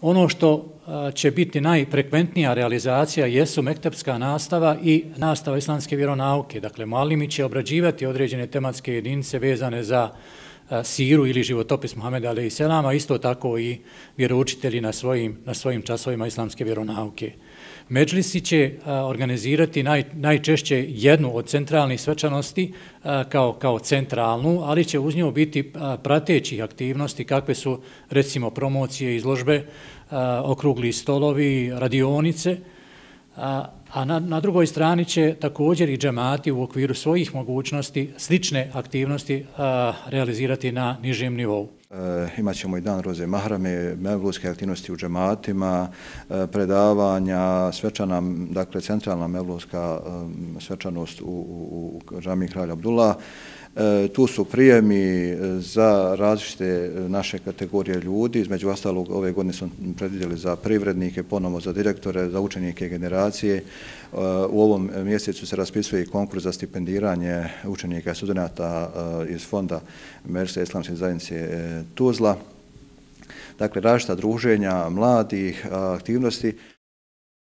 Ono što će biti najfrekventnija realizacija jesu mektepska nastava i nastava islamske vjeronauke. Dakle, mualimi će obrađivati određene tematske jedinice vezane za siru ili životopis Muhameda a.s., a isto tako i vjeroučitelji na svojim časovima islamske vjeronauke. Medžlisi će organizirati najčešće jednu od centralnih svečanosti kao centralnu, ali će uz nju biti pratećih aktivnosti kakve su recimo promocije, izložbe, okrugli stolovi, radionice, a na drugoj strani će također i džemati u okviru svojih mogućnosti slične aktivnosti realizirati na nižem nivou. Imat ćemo i dan Roze Mahrame, mevludske aktivnosti u džematima, predavanja, svečana, dakle centralna mevludska svečanost u džamiji Kralja Abdullah. Tu su prijemi za različite naše kategorije ljudi, između ostalog ove godine smo predvidjeli za privrednike, ponovo za direktore, za učenike generacije. U ovom mjesecu se raspisuje i konkurs za stipendiranje učenika i studenata iz fonda Medžlisa islamske zajednice Tuzla. Dakle, različita druženja mladih, aktivnosti.